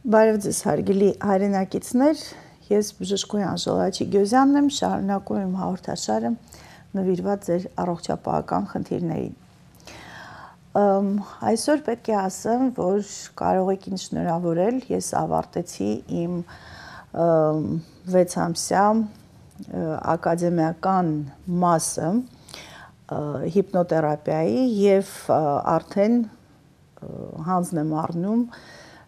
Բարև ձեզ հարգելի հայրենակիցներ, ես բժշկուհի Ժոլաչի Գյոզյանն եմ, շարունակում եմ հաղորդաշարը նվիրված ձեր առողջապահական խնդիրներին։ Այսօր պետք է ասեմ, որ կարող եք ինձ շնորհավորել, ես ավարտեցի իմ 6-ամսյա ակադեմիական մասը հիպնոթերապիայի եւ արդեն հանձն եմ առնում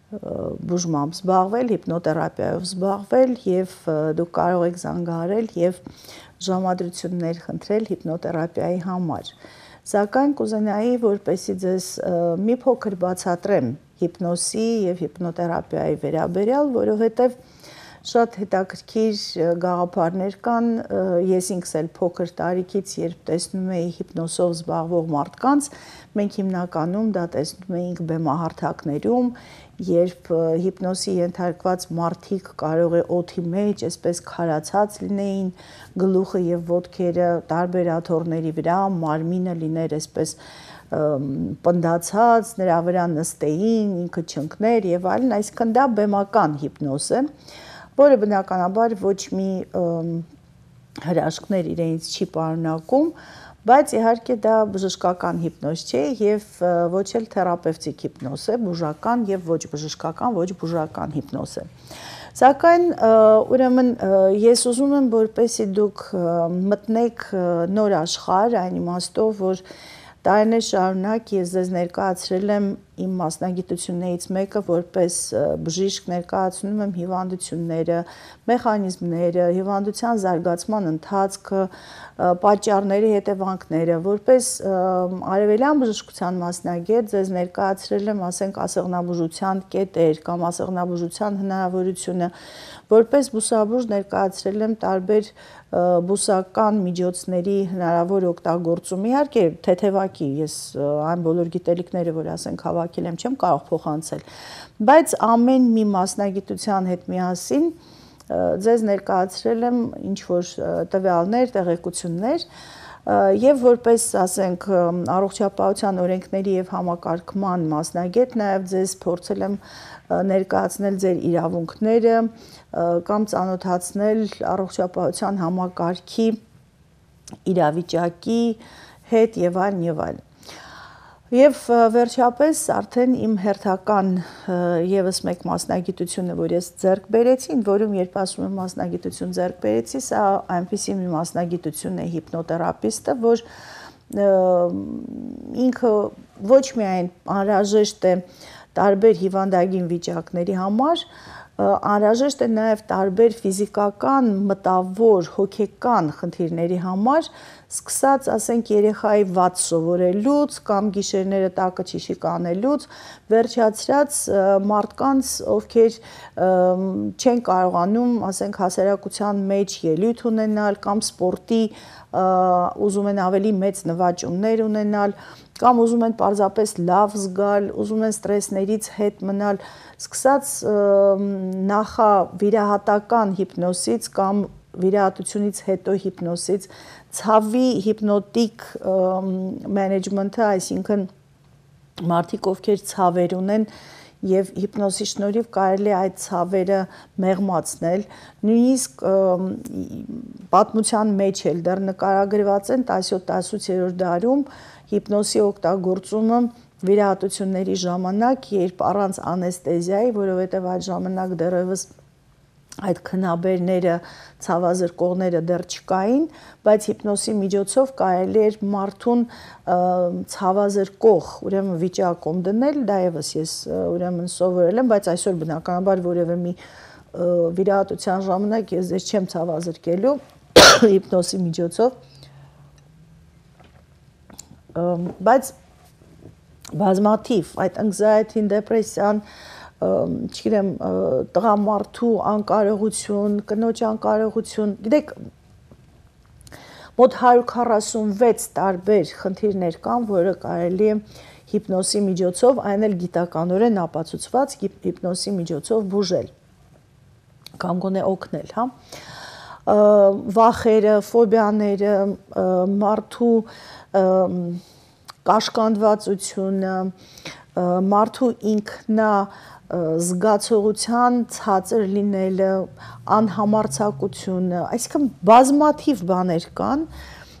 բուժմամբ զբաղվել, հիպնոթերապիայով զբաղվել եւ դուք կարող եք զանգահարել եւ ժամադրություններ խնդրել հիպնոթերապիայի համար։ Սակայն կուզենայի, որպեսզի ձեզ մի փոքր բացատրեմ հիպնոսի եւ հիպնոթերապիայի վերաբերյալ, որովհետեւ շատ հետաքրքիր գաղափարներ կան, ես ինքս էլ փոքր տարիքից երբ տեսնում էի հիպնոսով զբաղվող մարդկանց, մենք հիմնականում դա տեսնում էինք բեմահարթակներում, երբ հիպնոսի ենթարկված մարդիկ կարող է օդի մեջ այսպես քարացած լինեին, գլուխը եւ ոտքերը տարբեր աթոռների վրա, մարմինը լիներ այսպես պնդացած, նրա վրա նստեին, ինքը չընկներ եւ այլն, այսինքն դա բեմական հիպնոզ է, որը բնականաբար ոչ մի հրաշքներ իրենից չի պարունակում, բայց իհարկե դա բժշկական հիպնոզ չէ եւ ոչ էլ թերապևտիկ հիպնոզ է, բուժական եւ ոչ բժշկական, ոչ բուժական հիպնոզ է։ Սակայն ուրեմն ես ուզում եմ, որպեսզի դուք մտնեք նոր աշխարհ, այն իմաստով, որ տարիներ շարունակ ես ձեզ ներկայացրել եմ իմ մասնագիտություններից մեկը, որպես բժիշկ ներկայացնում եմ հիվանդությունները, մեխանիզմները, հիվանդության զարգացման ընթացքը, պատճառները, հետևանքները, որպես արևելյան բժշկության մասնագետ ձեզ ներկայացրել եմ, ասենք, ասեղնաբուժության կետեր կամ ասեղնաբուժության հնարավորությունը, որպես բուսաբույժ ներկայացրել եմ տարբեր բուսական միջոցների հնարավոր օգտագործում, իհարկե թեթևակի, ես այն բոլոր գիտելիքները, որ ասենք հավաքել եմ, չեմ կարող փոխանցել, բայց ամեն մի մասնագիտության հետ միասին ձեզ ներկայացրել եմ ինչ-որ տվյալներ, տեղեկություններ եւ որպես, ասենք, առողջապահության օրենքների եւ համակարգման մասնագետ նաեւ ձեզ փորձել եմ ներկայացնել ձեր իրավունքները կամ ծանոթացնել առողջապահության համակարգի իրավիճակի հետ եւ այլն եւ այլն։ Եվ վերջապես արդեն իմ հերթական եւս մեկ մասնագիտությունը, որ ես ձեռք բերեցի, որում երբ ասում եմ մասնագիտություն ձեռք բերեցի, սա այնպիսի մի մասնագիտություն է հիպնոթերապիստը, որ ինքը ոչ միայն անհրաժեշտ է տարբեր հիվանդագին վիճակների համար, անհրաժեշտ է նաև տարբեր ֆիզիկական, մտավոր, հոգեկան խնդիրների համար, սկսած, ասենք, երեխայի վատ սովորելուց կամ գիշերները տակը ճիշիկ անելուց, վերջացրած մարդկանց, ովքեր չեն կարողանում, ասենք, հասարակության մեջ ելույթ ունենալ կամ սպորտի ուզում են ավելի մեծ նվաճումներ ունենալ, կամ ուզում են պարզապես լավ զգալ, ուզում են ստրեսներից հետ մնալ, սկսած նախավիրահատական հիպնոսից կամ վիրահատությունից հետո հիպնոսից, ցավի հիպնոտիկ մենեջմենթը, այսինքն մարդիկ, ովքեր ցավեր ունեն եւ հիպնոսի շնորհիվ կարելի է այդ ցավերը մեղմացնել, նույնիսկ պատմության մեջ էլ դեռ նկարագրված են 17-18-րդ դարում հիպնոսի օգտագործումը վիրահատությունների ժամանակ, երբ առանց անեստեզիայի, որովհետև այդ ժամանակ դեռևս այդ քնաբերները, ցավազրկողները դեռ չկային, բայց հիպնոսի միջոցով կարելի էր մարդուն ցավազրկող, ուրեմն վիճակում դնել, դա եւս ես ուրեմն սովորել եմ, բայց այսօր բնականաբար որևէ մի վիրահատության ժամանակ ես ձեզ չեմ ցավազրկելու հիպնոսի միջոցով, բայց բազմաթիվ այդ anxiety, depression, չգիտեմ, տղամարդու անկարողություն, կնոջ անկարողություն, գիտեք, մոտ 146 տարբեր խնդիրներ կան, որը կարելի է հիպնոսի միջոցով, այն էլ գիտականորեն ապացուցված հիպնոսի միջոցով բուժել կամ գոնե օգնել, հա։ Վախերը, ֆոբիաները, մարդու կաշկանդվածությունը, մարդու ինքնա զգացողության ցածր լինելը, անհամարձակությունը, այսինքն բազմաթիվ բաներ կան,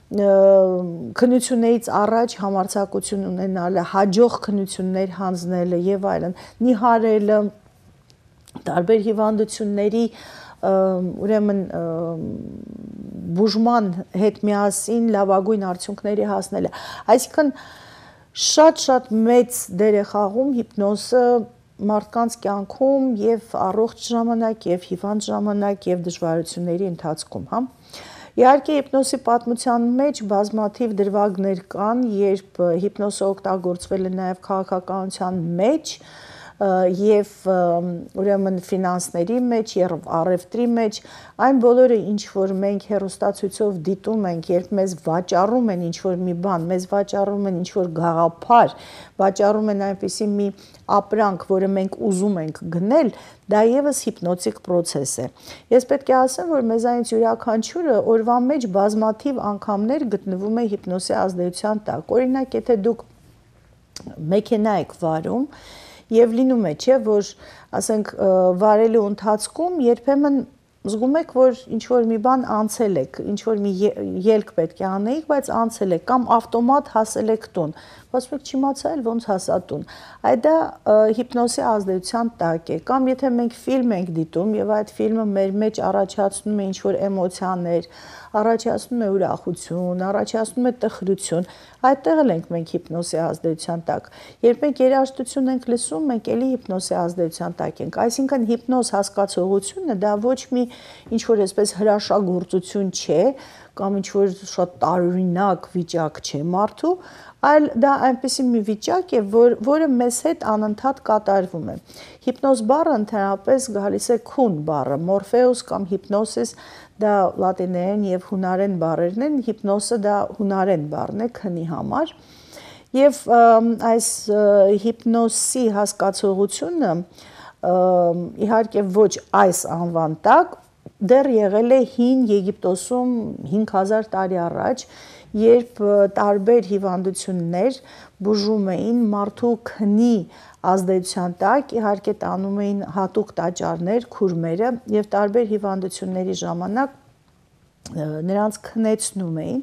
քննություններից առաջ համարձակություն ունենալը, հաջող քննություններ հանձնելը եւ այլն, նիհարելը, տարբեր հիվանդությունների ուրեմն բուժման հետ միասին լավագույն արդյունքների հասնելը, այսինքն շատ մեծ դեր է խաղում հիպնոզը մարդկանց կյանքում եւ առողջ ժամանակ եւ հիվանդ ժամանակ եւ դժվարությունների ընթացքում, հա։ Իհարկե հիպնոզի պատմության մեջ բազմաթիվ դրվագներ կան, երբ հիպնոզը օգտագործվել է նաեւ քաղաքականության մեջ եւ ուրեմն ֆինանսների մեջ, առևտրի մեջ, այն բոլորը ինչ որ մենք հեռուստացույցով դիտում ենք, երբ մեզ վաճառում են ինչ որ մի բան, մեզ վաճառում են ինչ որ գաղափար, վաճառում են այնպիսի մի ապրանք, որը մենք ուզում ենք գնել, դա եւս հիպնոտիկ process է։ Ես պետք է ասեմ, որ մեզանից յուրաքանչյուրը օրվա մեջ բազմաթիվ անգամներ գտնվում է հիպնոսի ազդեցության տակ։ Օրինակ, եթե դուք մեքենա եք վարում, եւ լինում է, չէ, որ ասենք վարելու ընթացքում երբեմն զգում եք, որ ինչ որ մի բան անցել եք, ինչ որ մի ելք պետք է անեիք, բայց անցել եք կամ ավտոմատ հասել եք տուն։ Ասում եք չիմացա էլ ոնց հասա տուն։ Այդ դա հիպնոսի ազդեցության տակ է։ Կամ եթե մենք ֆիլմ ենք դիտում եւ այդ ֆիլմը մեր մեջ առաջացնում է ինչ որ էմոցիաներ, առաջացնում է ուրախություն, առաջացնում է տխրություն, այդտեղ էլ ենք մենք հիպնոսի ազդեցության տակ։ Երբ մենք երաժշտություն ենք լսում, մենք էլի հիպնոսի ազդեցության տակ ենք։ Այսինքն հիպնոզ հասկացողությունը դա ոչ մի ինչ որ այսպես հրաշագործություն չէ, կամ ինչ որ շատ տարօրինակ վիճակ չէ մարդու, այլ դա այնպիսի մի վիճակ է, որը մեզ հետ անընդհատ կատարվում է։ Հիպնոզ բառը ընդհանրապես գալիս է քուն բառը, մորֆեուս կամ հիպնոսիս դա լատիներեն եւ հունարեն բառերն են, հիպնոսը դա հունարեն բառն է քնի համար։ Եվ այս հիպնոսի հասկացողությունը իհարկե ոչ այս անվան տակ դեռ եղել է հին Եգիպտոսում 5000 տարի առաջ, երբ տարբեր հիվանդություններ բուժում էին մարդու քնի ազդեցության տակ, իհարկե տանում էին հատուկ տաճարներ, քուրմերը եւ տարբեր հիվանդությունների ժամանակ նրանց քնեցնում էին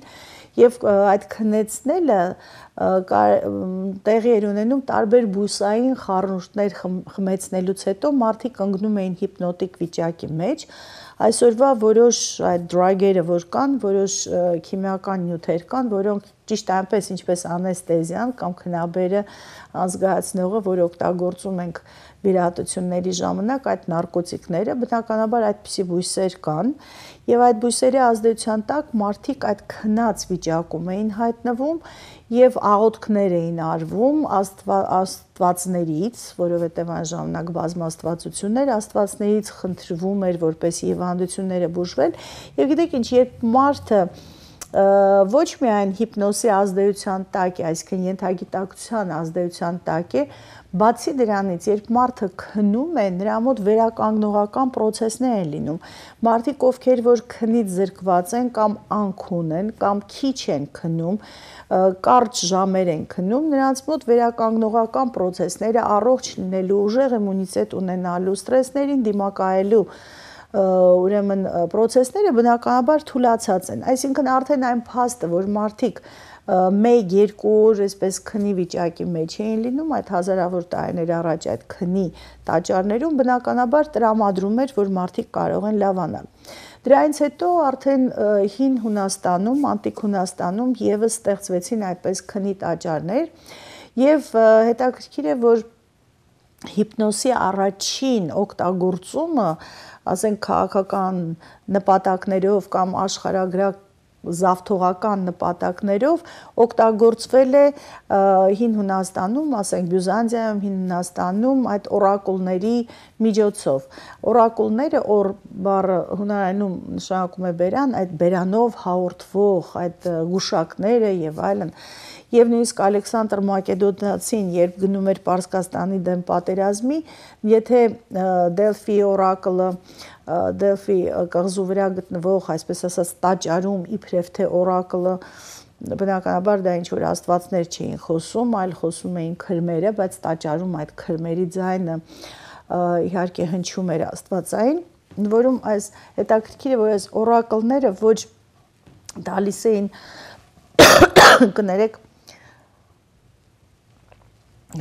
եւ այդ քնեցնելը տեղի էր ունենում տարբեր բուսային խառնուրդներ խմեցնելուց հետո մարդիկ ընկնում էին հիպնոտիկ վիճակի մեջ։ Այսօրվա որոշ այդ դրագերը, որ կան, որոշ քիմիական նյութեր կան, որոնք ճիշտ այնպես ինչպես անեստեզիան կամ քնաբերը անզգացնողը, որ օգտագործում ենք վիրահատությունների ժամանակ, այդ նարկոտիկները, բնականաբար այդպիսի բույսեր կան, եւ այդ բույսերի ազդեցության տակ մարդիկ այդ քնած վիճակում էին հայտնվում եւ աղոթքներ էին արվում աստվածներից, որովհետեւ այն ժամանակ բազմաստվածություններ, աստվածներից խնդրվում էր, որպեսզի հիվանդությունները բուժվեն, եւ գիտեք ինչ, երբ մարդը ոչ միայն հիպնոսի ազդեցության տակ է, այսինքն ենթագիտակցության ազդեցության տակ է, բացի դրանից, երբ մարդը քնում է, նրա մոտ վերականգնողական process-ներ են լինում։ Մարդիկ, ովքեր որ քնից զրկված են կամ անքուն են, կամ քիչ են քնում, կարճ ժամեր են քնում, նրանց մոտ վերականգնողական process-ները առողջ լինելու, ուժեղ իմունիտետ ունենալու, ստրեսներին դիմակայելու ուրեմն process-ները բնականաբար թուլացած են։ Այսինքն արդեն այն փաստը, որ մարդիկ 1-2 օր այսպես քնի վիճակի մեջ էին լինում, այդ հազարավոր տարիներ առաջ այդ քնի տաճարներում բնականաբար տրամադրում էր, որ մարդիկ կարող են լավանալ։ Դրանից հետո արդեն հին Հունաստանում, անտիկ Հունաստանում եւս ստեղծվեցին այդպես քնի տաճարներ, եւ հետաքրքիր է, որ հիպնոսի առաջին օգտագործումը, ասենք քաղաքական նպատակներով կամ աշխարհագրական զավթողական նպատակներով օգտագործվել է հին Հունաստանում, ասենք Բյուզանդիայում, հին Հունաստանում այդ օրակուլների միջոցով։ Օրակուլները, օր բառը հունարենում նշանակում է բերան, այդ բերանով հաղորդվող այդ գուշակները եւ այլն։ Եվ նույնիսկ Ալեքսանդր Մակեդոնացին, երբ գնում էր Պարսկաստանի դեմ պատերազմի, եթե Դելֆի օրակլը, Դելֆի կղզու վրա գտնվող, այսպես ասած, տաճարում իբրև թե օրակլը բնականաբար դա ինչ որ աստվածներ չէին խոսում, այլ խոսում էին քրմերը, բայց տաճարում այդ քրմերի ձայնը իհարկե հնչում էր աստվածային, որում այս հետաքրքիր է, որ այս օրակլները ոչ տալիս էին կներեք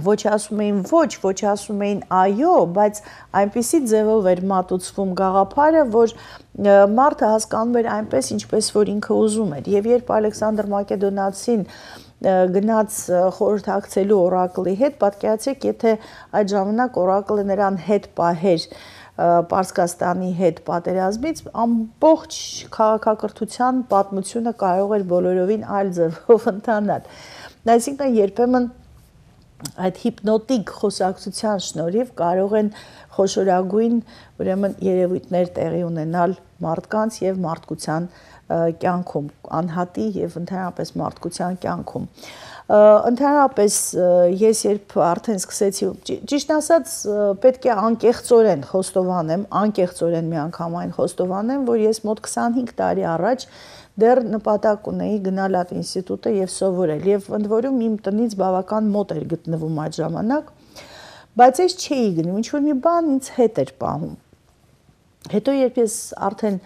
ոչ ասում էին ոչ ասում էին այո, բայց այնպիսի ձևով էր մատուցվում գաղափարը, որ մարդը հասկանում էր այնպես, ինչպես որ ինքը ուզում էր։ Եվ երբ Ալեքսանդր Մակեդոնացին գնաց խորհրդակցելու օրակլի հետ, պատկերացրեք, եթե այդ ժամանակ օրակլը նրան հետ պահեր Պարսկաստանի հետ պատերազմից, ամբողջ քաղաքակրթության պատմությունը կարող էր բոլորովին այլ ձևով ընթանալ։ Այսինքն երբեմն այդ հիպնոտիկ խոսակցության շնորհիվ կարող են խոշորագույն ուրեմն երևույթներ տեղի ունենալ մարդկանց եւ մարդկության կյանքում, անհատի եւ ընդհանրապես մարդկության կյանքում։ Ընդհանրապես ես երբ արդեն սկսեցի, ճիշտ ասած, պետք է անկեղծորեն խոստովանեմ, անկեղծորեն միանգամայն խոստովանեմ, որ ես մոտ 25 տարի առաջ դեռ նպատակ ունեի գնալ այդ ինստիտուտը եւ սովորել, եւ ընդ որում իմ տնից բավական մոտ էր գտնվում այդ ժամանակ, բայց ես չէի գնում, ինչ որ մի բան ինձ հետ էր պահում։ Հետո երբ ես արդեն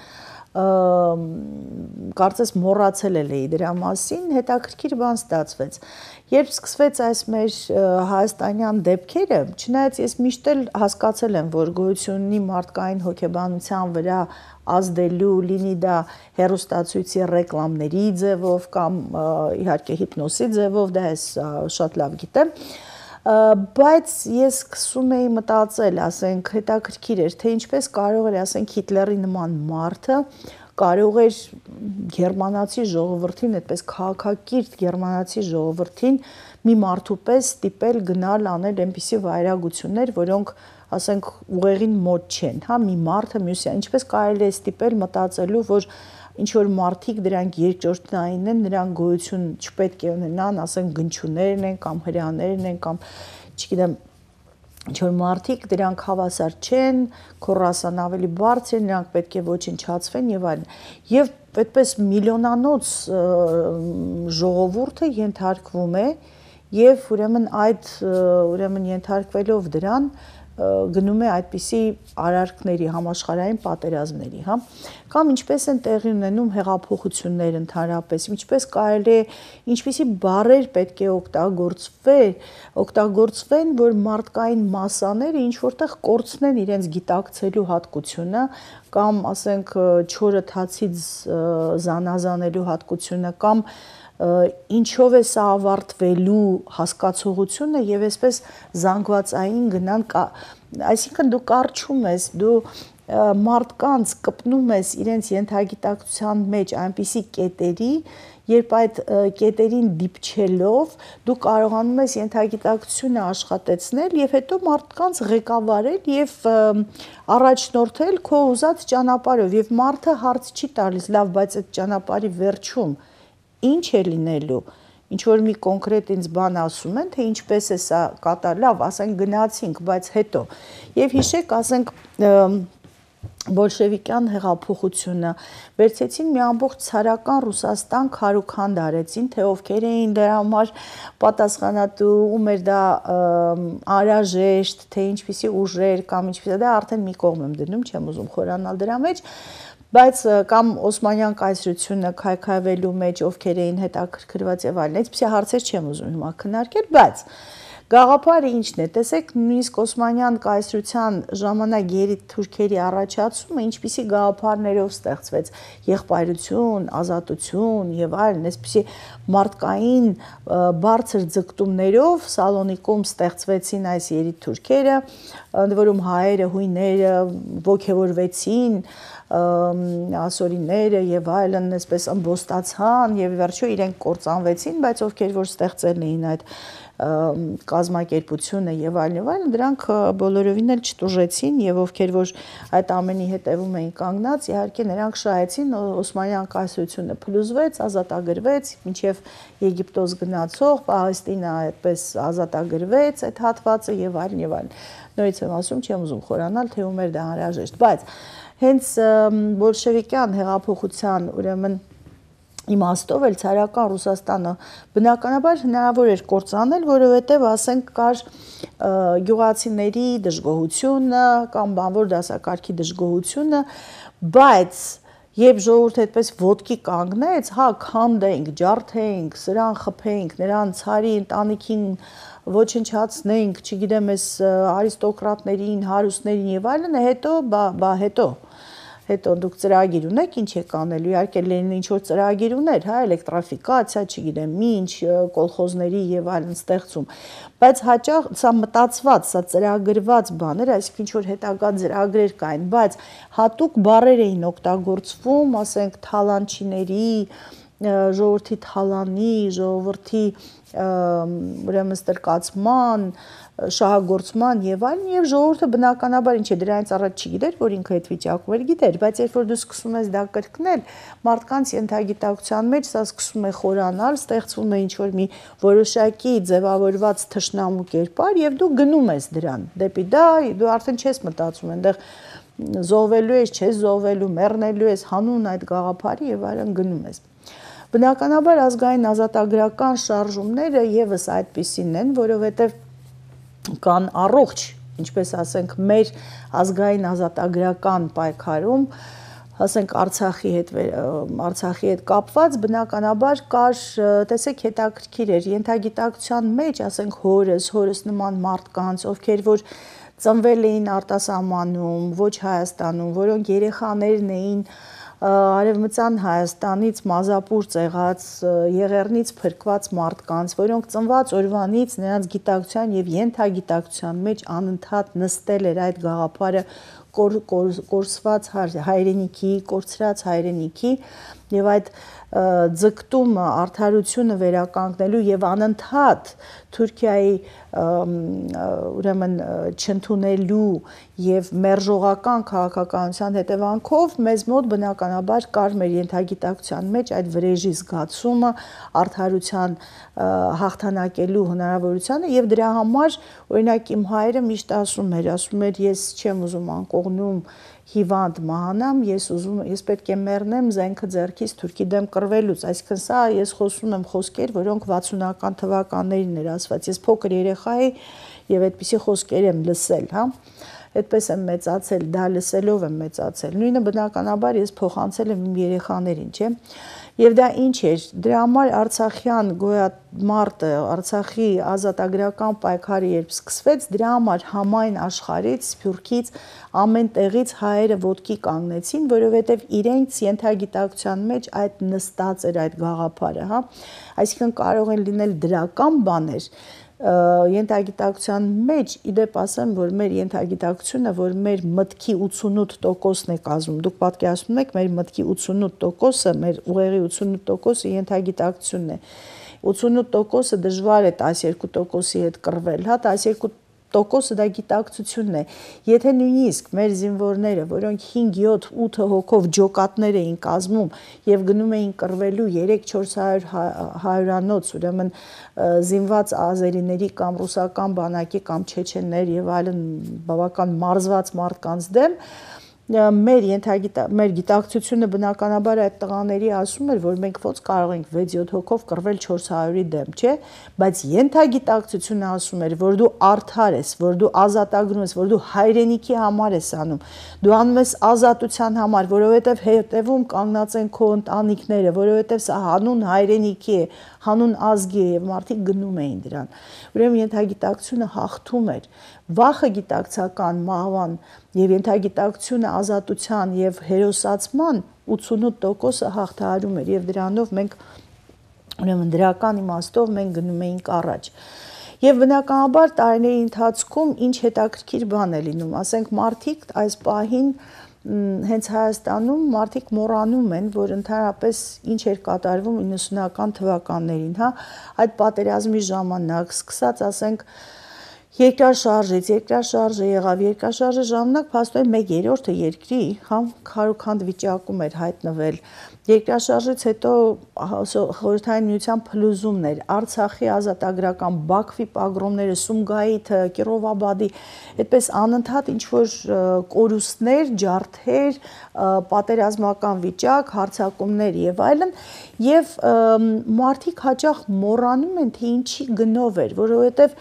կարծես մոռացել էի դրա մասին, հետաքրքիր բան ստացվեց։ Երբ սկսվեց այս մեր հայաստանյան դեպքերը, չնայած ես միշտ էլ հասկացել եմ, որ գոյություն ունի մարդկային հոգեբանության վրա ազդելու, լինի դա հեռուստացույցի ռեկլամների ձևով կամ իհարկե հիպնոսի ձևով, դա ես շատ լավ գիտեմ, բայց ես սկսում էի մտածել, ասենք, հետաքրքիր էր, թե ինչպես կարող էր, ասենք, Հիտլերի նման մարդը կարող էր գերմանացի ժողովրդին, այդպես քաղաքակիրթ գերմանացի ժողովրդին մի մարդու պես ստիպել գնալ անել այնպիսի վայրագություններ, որոնք ասենք ուղեղին մոտ չեն, հա, մի մարդը մյուսի, ինչպես կարելի է ստիպել մտածելու, որ ինչ որ մարդիկ դրանք երկրորդային են, նրանք գոյություն չպետք է ունենան, ասենք գնչուներն են կամ հրեաներն են կամ չգիտեմ, ինչ որ մարդիկ դրանք հավասար չեն, քորասան ավելի բարձր են, նրանք պետք է ոչնչացվեն եւ այլն։ Եվ այդպես միլիոնանոց ժողովուրդը ենթարկվում է եւ ուրեմն ենթարկվելով դրան գնում է այդպիսի արարքների, համաշխարհային պատերազմների, հա, կամ ինչպես են տեղի ունենում հեղափոխություններ ընդհանրապես, ինչպես կարելի է, ինչպիսի բառեր պետք է օգտագործվեն, որ մարդկային մասաները ինչ որտեղ կորցնեն իրենց գիտակցելու հատկությունը, կամ ասենք չորը թացից զանազանելու հատկությունը, կամ ինչով է սա ավարտվելու հասկացողությունը եւ այսպես զանգվածային գնան, այսինքն դու կարճում ես, դու մարդկանց կպնում ես իրենց ենթագիտակցության մեջ այնպիսի կետերի, երբ այդ կետերին դիպչելով դու կարողանում ես ենթագիտակցությունը աշխատեցնել եւ հետո մարդկանց ղեկավարել եւ առաջնորդել քո ուզած ճանապարհով եւ մարդը հարց չի տալիս, լավ, բայց այդ ճանապարհի վերջում ինչ է լինելու, ինչ որ մի կոնկրետ ինձ բան ասում են, թե ինչպես է սա կատարել, լավ, ասենք գնացինք, բայց հետո։ Եվ հիշեք, ասենք բոլշևիկյան հեղափոխությունը, վերցեցին մի ամբողջ ցարական Ռուսաստան քարուքանդ արեցին, թե ովքեր էին դրա համար պատասխանատու, ում էր դա անհրաժեշտ, թե ինչպիսի ուժեր կամ ինչպիսի, դա արդեն մի կողմ եմ դնում, չեմ ուզում խորանալ դրա մեջ, բայց կամ Օսմանյան կայսրությունը քայքայվելու մեջ ովքեր էին հետաքրքրված եւ այլն, այսպիսի հարցեր չեմ ուզում հիմա քննարկել, բայց գաղափարը ինչն է, տեսեք, նույնիսկ Օսմանյան կայսրության ժամանակ երիտթուրքերի առաջացումը ինչպիսի գաղափարներով ստեղծվեց, եղբայրություն, ազատություն եւ այլն, այսպիսի մարդկային բարձր ձգտումներով Սալոնիկում ստեղծվեցին այս երիտթուրքերը, ընդ որում հայերը, հույները ոգևորվեցին, ասորիները եւ այլն, այսպես ըմբոստացան եւ վերջո իրենք կործանվեցին, բայց ովքեր որ ստեղծել էին այդ կազմակերպությունը եւ այլն, դրանք բոլորովին էլ չտուժեցին եւ ովքեր որ այդ ամենի հետևում էին կանգնած, իհարկե նրանք շահեցին, Օսմանյան կայսրությունը փլուզվեց, ազատագրվեց, մինչեւ Եգիպտոս գնացող Պաղեստինը այդպես ազատագրվեց այդ հատվածը եւ այլն եւ այլն։ Նորից եմ ասում, չեմ ուզում խորանալ, թե ում էր դա անհրաժեշտ, բայց հենց բոլշևիկյան հեղափոխության ուրեմն իմաստով էլ ցարական Ռուսաստանը բնականաբար հնարավոր էր կործանել, որովհետև ասենք կար գյուղացիների դժգոհությունը կամ բանվոր դասակարգի դժգոհությունը, բայց երբ ժողովուրդը այդպես ոտքի կանգնեց, հա, քանդենք, ջարդենք, սրան խփենք, նրան ցարի ընտանիքին ոչնչացնենք, չգիտեմ, այս արիստոկրատներին, հարուստներին եւ այլն, հետո դուք ծրագիր ունեք, ինչ եք անելու, իհարկե Լենինը ինչ-որ ծրագիր ուներ, հա, էլեկտրաֆիկացիա, չգիտեմ, ինչ, կոլխոզների եւ այլն ստեղծում, բայց հաճախ սա մտածված, սա ծրագրված բաներ, այսինքն ինչ-որ հետագա ծրագրեր կային, բայց հատուկ բառեր էին օգտագործվում, ասենք, թալանչիների, ժողովրդի թալանի, ժողովրդի ուրեմն ստրկացման, շահագործման եւ այլն, եւ ժողովուրդը բնականաբար ինչ է դրանից առաջ չգիտեր, որ ինքը այդ վիճակում էր, գիտեր, բայց երբ որ դու սկսում ես դա կրկնել, մարդկանց ենթագիտակցության մեջ սա սկսում է խորանալ, ստեղծվում է ինչ-որ մի որոշակի ձևավորված թշնամու կերպար եւ դու գնում ես դրան, դեպի դա դու արդեն չես մտածում, այնտեղ զոհվելու ես, չես զոհվելու, մեռնելու ես, հանուն այդ գաղափարի եւ այլն գնում ես։ Բնականաբար ազգային ազատագրական շարժումները եւս այդպիսին են, որովհետեւ կան առողջ, ինչպես ասենք, մեր ազգային ազատագրական պայքարում, ասենք Արցախի հետ կապված, բնականաբար կար, տեսեք, հետաքրքիր էր, ենթագիտակցության մեջ, ասենք, հորս նման մարդկանց, ովքեր որ ծնվել էին արտասահմանում, ոչ Հայաստանում, որոնք երեխաներն էին Արևմտյան Հայաստանից մազապուր ծեղած, Եղեռնից փրկված մարդկանց, որոնք ծնված օրվանից նրանց գիտակցության եւ ենթագիտակցության մեջ անընդհատ նստել էր այդ գաղափարը կորսված հայրենիքի, կորցրած հայրենիքի եւ այդ ձգտումը արդարությունը վերականգնելու եւ անընդհատ Թուրքիայի ուրեմն չընդունելու եւ մերժողական քաղաքականության հետևանքով մեզ մոտ բնականաբար կար մեր ենթագիտակցության մեջ այդ վրեժի զգացումը արդարության հաղթանակելու հնարավորությունը եւ դրա համար օրինակ իմ հայրը միշտ ասում էր ես չեմ ուզում անկողնում հիվանդ մահանամ, ես պետք է մեռնեմ զենքը ձեռքից թուրքի դեմ կռվելուց, այսինքն սա ես խոսում եմ խոսքեր, որոնք 60-ական թվականներին էր ասված, ես փոքր երեխա էի եւ այդպիսի խոսքեր եմ լսել, հա, այդպես եմ մեծացել, դա լսելով եմ մեծացել, նույնը բնականաբար ես փոխանցել եմ իմ երեխաներին, չէ, եւ դա ինչ էր, դրա համար Արցախյան գոյամարտը, Արցախի ազատագրական պայքարը երբ սկսվեց, դրա համար համայն աշխարհից, Սփյուռքից, ամեն տեղից հայերը ոտքի կանգնեցին, որովհետև իրենց ենթագիտակցության մեջ այդ նստած էր այդ գաղափարը, հա, այսինքն կարող են լինել դրական բաներ, ենթագիտակցության մեջ, իդեպ ասեմ, որ մեր ենթագիտակցությունը, որ մեր մտքի 88%-ն է կազմում, դուք պատկերացնում եք, մեր մտքի 88%-ը, մեր ուղեղի 88%-ը ենթագիտակցությունն է, 88%-ը դժվար է 12%-ի հետ կռվել, հա, 12%-ը դա գիտակցությունն է, եթե նույնիսկ մեր զինվորները, որոնք 5, 7, 8 հոգով ջոկատներ էին կազմում եւ գնում էին կռվելու 3-400 հայրանոց, ուրեմն զինված ազերիների կամ ռուսական բանակի կամ չեչեններ եւ այլն բավական մարզված մարդկանց դեմ, մեր գիտակցությունը բնականաբար այդ տղաների ասում էր, որ մենք ոնց կարող ենք 6-7 հոգով կռվել 400-ի դեմ, չէ, բայց ենթագիտակցությունը ասում էր, որ դու արդար ես, որ դու ազատագրում ես, որ դու հայրենիքի համար ես անում, դու անում ես ազատության համար, որովհետև հետևում կանգնած են քո ընտանիքները, որովհետև սա հանուն հայրենիքի է, հանուն ազգի է եւ մարդիկ գնում էին դրան։ Ուրեմն ենթագիտակցությունը հաղթում էր, վախը գիտակցական մահվան եւ ենթագիտակցությունը ազատության եւ հերոսացման 88%-ը հաղթահարում էր եւ դրանով մենք ուրեմն դրական իմաստով մենք գնում էինք առաջ։ Եվ բնականաբար տարիների ընթացքում ինչ հետաքրքիր բան է լինում, ասենք մարդիկ այս պահին հենց Հայաստանում մարդիկ մոռանում են, որ ընդհանրապես ինչ էր կատարվում 90-ական թվականներին, հա, այդ պատերազմի ժամանակ սկսած, ասենք, երկրաշարժը եղավ, երկրաշարժը ժամանակ փաստորեն 1/3 երկրի քարուքանդ վիճակում էր հայտնվել։ Երկրաշարժից հետո Խորհրդային Միության փլուզումներ, Արցախի ազատագրական, Բաքվի պագրոմները, Սումգայիթը, Կիրովաբադի, այդպես անընդհատ ինչ-որ կորուստներ, ջարդեր, պատերազմական վիճակ, հարձակումներ եւ այլն, եւ մարդիկ հաճախ մոռանում են, թե ինչի գնով էր, որովհետեւ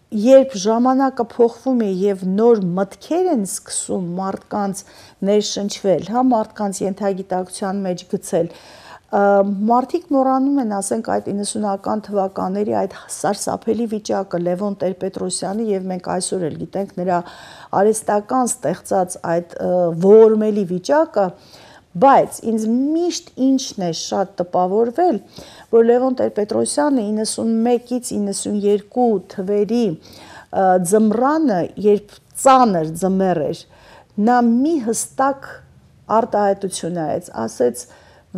երբ ժամանակը փոխվում է եւ նոր մտքեր են սկսում մարդկանց ներշնչվել, մարդկանց ենթագիտակցության մեջ գցել, մարդիկ մոռանում են, ասենք, այդ 90-ական թվականների այդ սարսափելի վիճակը Լևոն Տեր-Պետրոսյանի եւ մենք այսօր էլ գիտենք նրա արհեստական ստեղծած այդ ողորմելի վիճակը, բայց ինձ միշտ ինչն է շատ տպավորվել, որ Լևոն Տեր-Պետրոսյանը 91-ից 92 թվերի ձմռանը, երբ ծանր ձմեռ էր, նա մի հստակ արտահայտություն արեց, ասեց,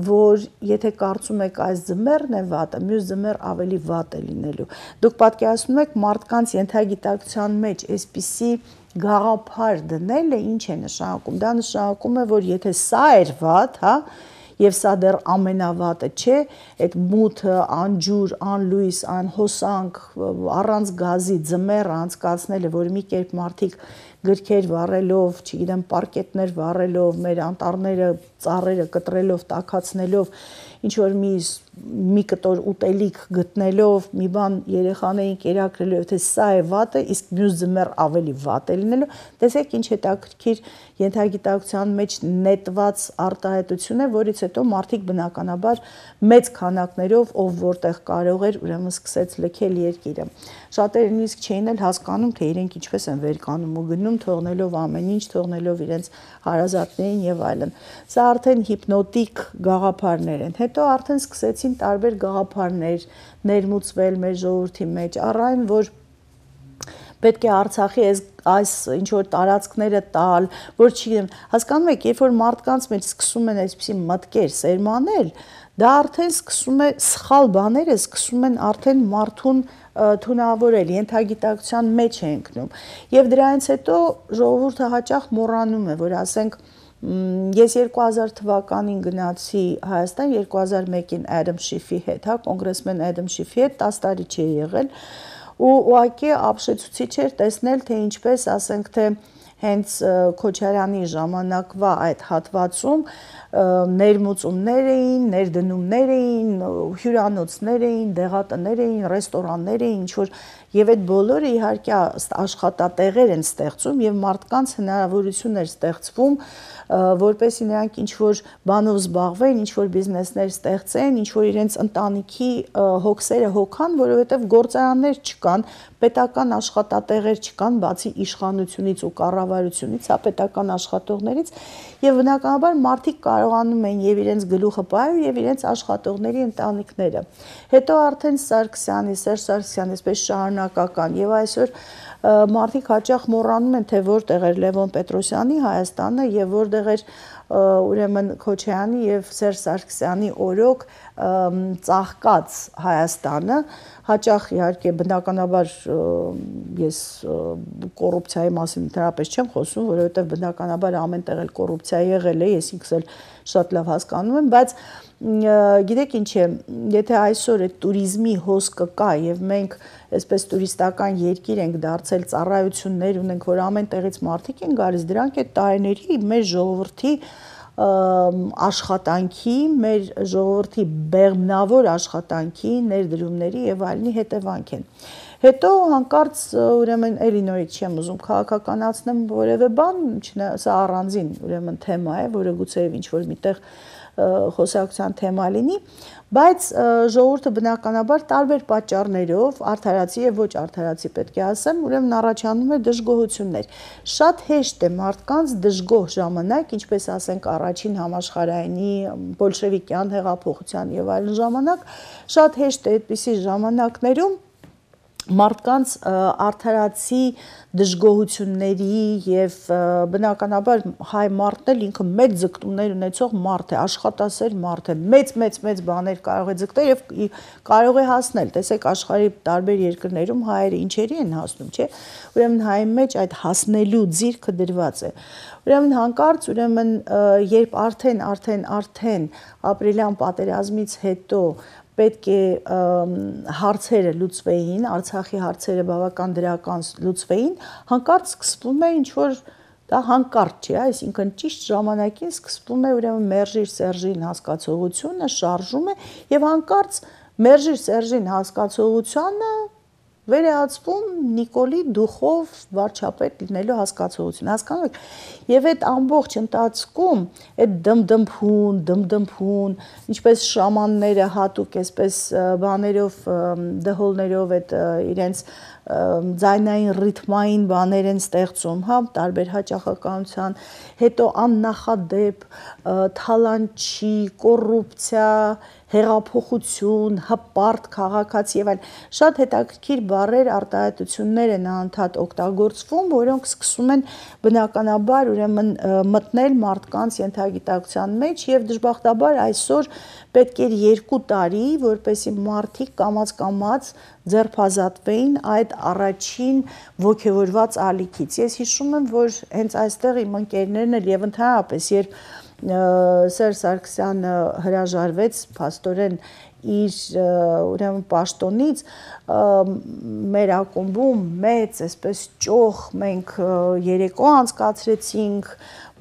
որ եթե կարծում եք այս ձմեռն է վատը, մյուս ձմեռ ավելի վատ է լինելու։ Դուք պատկերացնում եք մարդկանց ենթագիտակցության մեջ այսպիսի գաղափար դնելը ինչ է նշանակում։ Դա նշանակում է, որ եթե սա էր վատ, եւ սա դեռ ամենավատը չէ, այդ մութը, անջուր, անլույս, անհոսանք, առանց գազի ձմեռը անցկացնելը, որ մի կերպ մարդիկ գրքեր վառելով, չգիտեմ, պարկետներ վառելով, մեր անտառները, ծառերը կտրելով, տաքացնելով, ինչ որ մի կտոր ուտելիք գտնելով, մի բան երեխաներին կերակրելով, թե սա է վատը, իսկ մյուս ձմեռ ավելի վատ է լինելու, տեսեք ինչ հետաքրքիր ենթագիտակցության մեջ նետված արտահայտություն է, որից հետո մարդիկ բնականաբար մեծ քանակներով, ով որտեղ կարող էր, ուրեմն սկսեց լքել երկիրը։ Շատերը նույնիսկ չէին էլ հասկանում, թե իրենք ինչպես են վեր կանում ու գնում, թողնելով ամեն ինչ, թողնելով իրենց հարազատներին եւ այլն։ Սա արդեն հիպնոտիկ գաղափարներ են։ Հետո արդեն սկսեցին տարբեր գաղափարներ ներմուծվել մեր ժողովրդի մեջ, առ այն, որ պետք է Արցախի այս ինչ որ տարածքները տալ, որ չգիտեմ, հասկանում եք, երբ որ մարդկանց մեջ սկսում են այսպիսի մտքեր սերմանել, դա արդեն սկսում է սխալ բաները սկսում են արդեն մարդուն թունավորել, ենթագիտակցության մեջ է ընկնում։ Եվ դրանից հետո ժողովուրդը հաճախ մոռանում է, որ ասենք ես 2000 թվականին գնացի Հայաստան 2001-ին Adam Schiffի հետ, կոնգրեսմեն Adam Schiffի հետ 10 տարի չի եղել ու ուղղակի ապշեցուցիչ էր տեսնել, թե ինչպես, ասենք, թե հենց Քոչարյանի ժամանակվա այդ հատվածում ներմուծումներ էին, ներդնումներ էին, հյուրանոցներ էին, դեղատներ էին, ռեստորաններ էին, ինչ-որ եւ այդ բոլորը իհարկե աշխատատեղեր են ստեղծում եւ մարդկանց հնարավորություն էր ստեղծվում, որպեսզի նրանք ինչ-որ բանով զբաղվեն, ինչ-որ բիզնեսներ ստեղծեն, ինչ-որ իրենց ընտանիքի հոգսերը հոգան, որովհետեւ գործարաններ չկան, պետական աշխատատեղեր չկան, բացի իշխանությունից ու կառավարությունից, պետական աշխատողներից եւ բնականաբար մարդիկ կարողանում են եւ իրենց գլուխը պահել եւ իրենց աշխատողների ընտանիքները։ Հետո արդեն Սարգսյանի, Սերժ Սարգսյանի, այսպես շարունակական եւ այսօր մարդիկ հաճախ մոռանում են, թե որտեղ էր Լևոն Պետրոսյանի Հայաստանը եւ որտեղ էր ուրեմն Քոչարյանի եւ Սերժ Սարգսյանի օրոք ծաղկած Հայաստանը, հաճախ իհարկե բնականաբար ես կոռուպցիայի մասին դրապես չեմ խոսում, որովհետեւ բնականաբար ամենտեղ էլ կոռուպցիա եղել է, ես ինքս էլ շատ լավ հասկանում եմ, բայց գիտեք ինչ է, եթե այսօր այդ туриզմի հոսքը կա եւ մենք այսպես տուրիստական երկիր ենք դարձել, ծառայություններ ունենք, որ ամեն տեղից մարդիկ են գալիս, դրանք այդ տարիների մեր ժողովրդի աշխատանքի, մեր ժողովրդի բեղմնավոր աշխատանքի, ներդրումների եւ այլնի հետևանք են։ Հետո հանկարծ ուրեմն էլի նորից չեմ ուզում քաղաքականացնեմ որևէ բան, սա առանձին ուրեմն թեմա է, որը գուցեև ինչ-որ միտեղ խոսակցության թեմա լինի, բայց ժողովուրդը բնականաբար տարբեր պատճառներով, արդարացի եւ ոչ արդարացի պետք է ասեմ, ուրեմն առաջանում է դժգոհություններ։ Շատ հեշտ է մարդկանց դժգոհ ժամանակ, ինչպես ասենք առաջին համաշխարհայինի, բոլշևիկյան հեղափոխության եւ այլն ժամանակ, շատ հեշտ է այդպիսի ժամանակներում մարդկանց արդարացի դժգոհությունների եւ բնականաբար հայ մարդն էլ ինքը մեծ ձգտումներ ունեցող մարդ է, աշխատասեր մարդ է, մեծ բաներ կարող է ձգտել եւ կարող է հասնել։ Տեսեք աշխարհի տարբեր երկրներում հայերը ինչերի են հասնում, չէ՞։ Ուրեմն հայի մեջ այդ հասնելու ձիրքը դրված է։ Ուրեմն հանկարծ, երբ արդեն ապրիլյան պատերազմից հետո պետք է հարցերը լուծվեին, Արցախի հարցերը բավական դրական լուծվեին, հանկարծ սկսվում է ինչ-որ դա հանկարծ չի, այսինքն ճիշտ ժամանակին սկսվում է ուրեմն Մերժիր Սերժին հասկացողությունը, շարժում է եւ հանկարծ Մերժիր Սերժին հասկացողությանը վերահացվում Նիկոլի դուխով վարչապետ լինելու հասկացողություն, հասկանում եք, եւ այդ ամբողջ ընթացքում այդ դմդմփուն, ինչպես շամանները հատուկ այսպես բաներով, դհոլներով այդ իրենց ձայնային ռիթմային բաներ են ստեղծում, հա, տարբեր հաճախականության, հետո աննախադեպ թալանչի, կոռուպցիա, հեղափոխություն, հպարտ քաղաքացի եւ այլն, շատ հետաքրքիր բառեր, արտահայտություններ են անընդհատ օգտագործվում, որոնք սկսում են բնականաբար ուրեմն մտնել մարդկանց ենթագիտակցության մեջ եւ դժբախտաբար այսօր պետք էր 2 տարի, որպեսզի մարդիկ կամաց ձերբազատվեին այդ առաջին ոգևորված ալիքից։ Ես հիշում եմ, որ հենց այստեղ իմ ընկերներն էլ եւ ընդհանրապես երբ Սերժ Սարգսյանը հրաժարվեց փաստորեն իր ուրեմն պաշտոնից, մեր ակումբում մեծ այսպես ճոխ մենք երեկո անցկացրեցինք,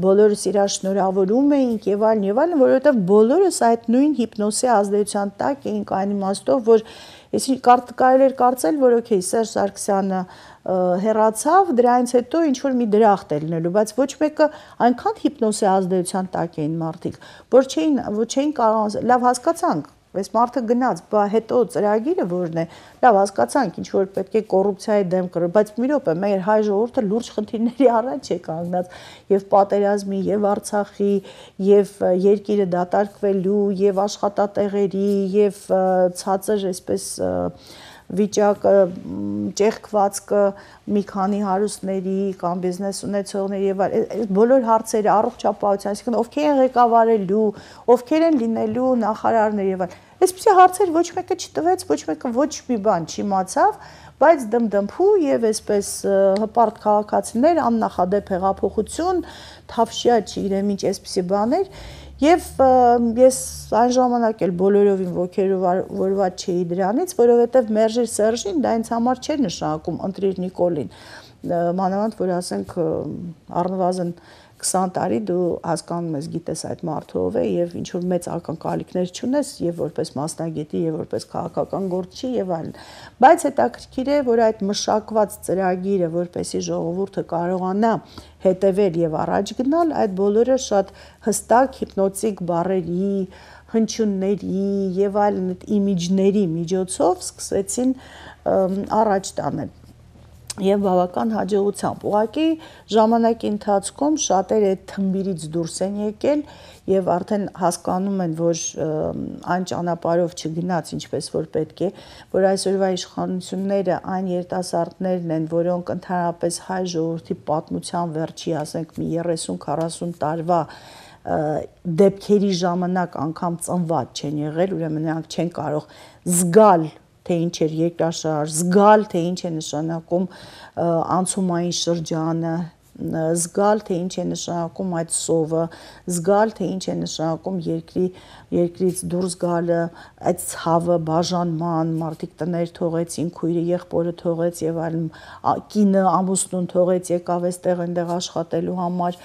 բոլորս իրար շնորհավորում էինք եւ այլն, որովհետեւ բոլորս այդ նույն հիպնոսի ազդեցության տակ էինք այն իմաստով, որ այսինքն կարելի էր կարծել, որ օքեյ Սերժ Սարգսյանը հեռացավ, դրանից հետո ինչ որ մի դրախտ է լինելու, բայց ոչ մեկը այնքան հիպնոսի ազդեցության տակ էին մարդիկ, որ չէին կարող, լավ հասկացանք, այս մարդը գնաց, բա հետո ծրագիրը որն է, լավ հասկացանք, ինչ որ պետք է կոռուպցիայի դեմ կռվել, բայց մի րոպե, մեր հայ ժողովուրդը լուրջ խնդիրների առաջ է կանգնած, եւ պատերազմի, եւ Արցախի, եւ երկիրը դատարկվելու, եւ աշխատատեղերի, եւ ցածր այսպես վիճակը, ճեղքվածքը մի քանի հարուստների կամ բիզնես ունեցողների եւ բոլոր հարցերը առողջապահության, այսինքն ովքեր են ղեկավարելու, ովքեր են լինելու նախարարներ եւ այլն։ Այսպիսի հարցեր ոչ մեկը չտվեց, ոչ մեկը ոչ մի բան չիմացավ, բայց դմդմփու եւ այսպես հպարտ քաղաքացիներ, աննախադեպ հեղափոխություն, թավշյա չգիտեմ ինչ այսպիսի բաներ Եվ ես այն ժամանակ էլ բոլորովին ոգևորված չէի դրանից, որովհետև Մերժիր Սերժին դա ինձ համար չէր նշանակում ընտրիր Նիկոլին, մանավանդ որ ասենք առնվազն 20 տարի դու հասկանում ես, գիտես այդ մարդը ով է եւ ինչ որ մեծ ակնկալիքներ չունես եւ որպես մասնագետի եւ որպես քաղաքական գործչի եւ այլն, բայց հետաքրքիր է, որ այդ մշակված ծրագիրը, որպեսզի ժողովուրդը կարողանա հետևել եւ առաջ գնալ, այդ բոլորը շատ հստակ հիպնոտիկ բառերի, հնչյունների եւ այլն իմիջների միջոցով սկսեցին առաջ տանել եւ բավական հաջողությամբ։ Ուղղակի ժամանակի ընթացքում շատերը այդ թմբիրից դուրս են եկել եւ արդեն հասկանում են, որ այն ճանապարհով չգնաց ինչպես որ պետք է, որ այսօրվա իշխանությունները այն երիտասարդներն են, որոնք ընդհանրապես հայ ժողովրդի պատմության վերջի, ասենք մի 30-40 տարվա դեպքերի ժամանակ անգամ ծնված չեն եղել, ուրեմն նրանք չեն կարող զգալ թե ինչ էր երկրաշարժ, զգալ թե ինչ է նշանակում անցումային շրջանը, զգալ թե ինչ է նշանակում այդ սովը, զգալ թե ինչ է նշանակում երկրից դուրս գալը, այդ ցավը, բաժանման, մարդիկ տներ թողեցին, քույրը եղբորը թողեց եւ այլն, կինը ամուսնուն թողեց, եկավ այստեղ այնտեղ աշխատելու համար,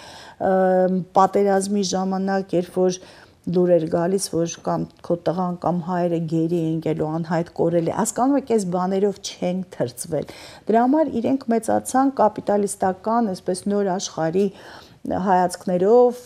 պատերազմի ժամանակ, երբ որ լուր էր գալիս, որ կամ քո տղան կամ հայրը գերի են գելու, անհայտ կորել է, հասկանում եք, այս բաներով չեն թրծվել։ Դրա համար իրենք մեծացան կապիտալիստական, այսպես նոր աշխարհի հայացքներով,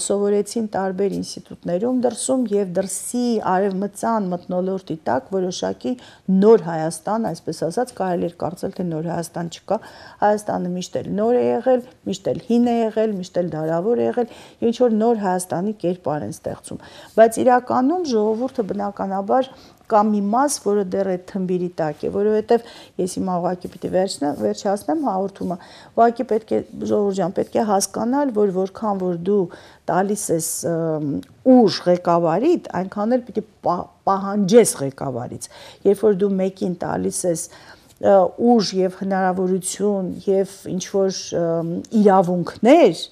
սովորեցին տարբեր ինստիտուտներում դրսում եւ դրսի արևմտյան մթնոլորտի տակ որոշակի նոր Հայաստան, այսպես ասած, կարելի էր կարծել, թե նոր Հայաստան չկա, Հայաստանը միշտ էլ նոր է եղել, միշտ էլ հին է եղել, միշտ էլ դարավոր է եղել, ինչ որ նոր Հայաստանի կերպար են ստեղծում, բայց իրականում ժողովուրդը բնականաբար կա մի մաս, որը դեռ այդ թմբիրի տակ է, որովհետև ես հիմա ուղղակի պիտի վերջացնեմ հաղորդումը, ուղղակի պետք է ժողովուրդ ջան, պետք է հասկանալ, որ որքան որ դու տալիս ես ուժ ղեկավարիդ, այնքան էլ պիտի պահանջես ղեկավարից։ Երբ որ դու մեկին տալիս ես ուժ եւ հնարավորություն եւ ինչ որ իրավունքներ,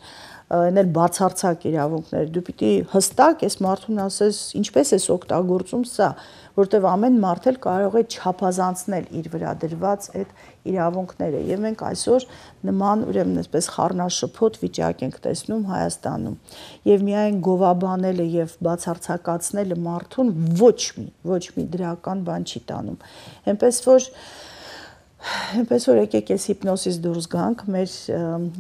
այնել բացարձակ իրավունքներ, դու պիտի հստակ ես մարդուն ասես ինչպես ես օգտագործում սա, որտեվ ամեն մարդ էլ կարող է չափազանցնել իր վրա դրված այդ իրավունքները եւ մենք այսօր նման ուրեմն այսպես խառնաշփոթ վիճակ ենք տեսնում Հայաստանում եւ միայն գովաբանելը եւ բացարձակացնելը մարդուն ոչ մի դրական բան չի տանում, Այնպես որ եկեք ես հիպնոսից դուրս գանք, մեր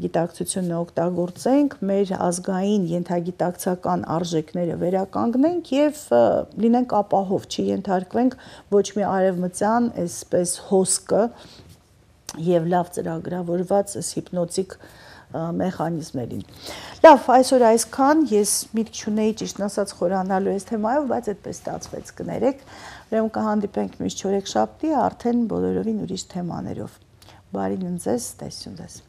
գիտակցությունը օգտագործենք, մեր ազգային ենթագիտակցական արժեքները վերականգնենք եւ լինենք ապահով, չենթարկվենք ոչ մի արևմտյան այսպես հոսքը եւ լավ ծրագրավորված հիպնոտիկ մեխանիզմերին։ Լավ, այսօր այսքան, ես միտք չունեի ճիշտն ասած խորանալու այս թեմայով, բայց այդպես ստացվեց, կներեք, ուրեմն կհանդիպենք միշտ չորեքշաբթի, արդեն բոլորովին ուրիշ թեմաներով։ Բարի նույն ձեզ, տեսություն ձեզ։